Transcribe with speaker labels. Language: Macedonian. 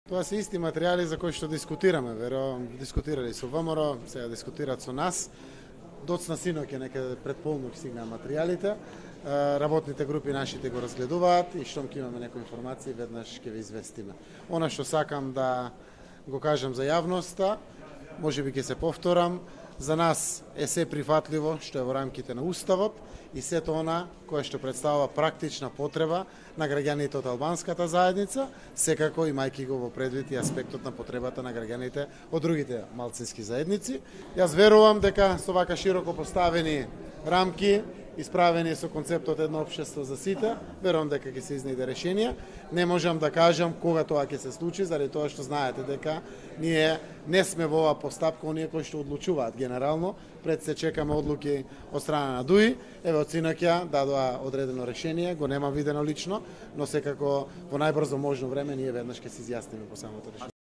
Speaker 1: Тоа се исти материјали за кои што дискутираме, верувам, дискутирали со ВМРО, сега дискутираат со нас. Доцна синоќ некаде пред полнок стигнаа материјалите. Работните групи нашите го разгледуваат и штом ќе имаме некои информации, веднаш ќе ве известиме. Она што сакам да го кажам за јавноста, можеби ќе се повторам, за нас е се прифатливо што е во рамките на Уставот и сето она кое што представува практична потреба на граѓаните од албанската заедница, секако имајќи го во предвид и аспектот на потребата на граѓаните од другите малцински заедници. Јас верувам дека со вака широко поставени рамки, исправени со концептот едно општество за сите, верувам дека ќе се изнајде решение. Не можам да кажам кога тоа ќе се случи, заради тоа што знаете дека ние не сме во оваа постапка оние кои што одлучуваат генерално, пред се чекаме одлуки од страна на ДУИ. Еве од синоќа дадоа одредено решение, го немам видено лично, но секако во најбрзо можно време ние веднаш ќе се изјасниме по самото решение.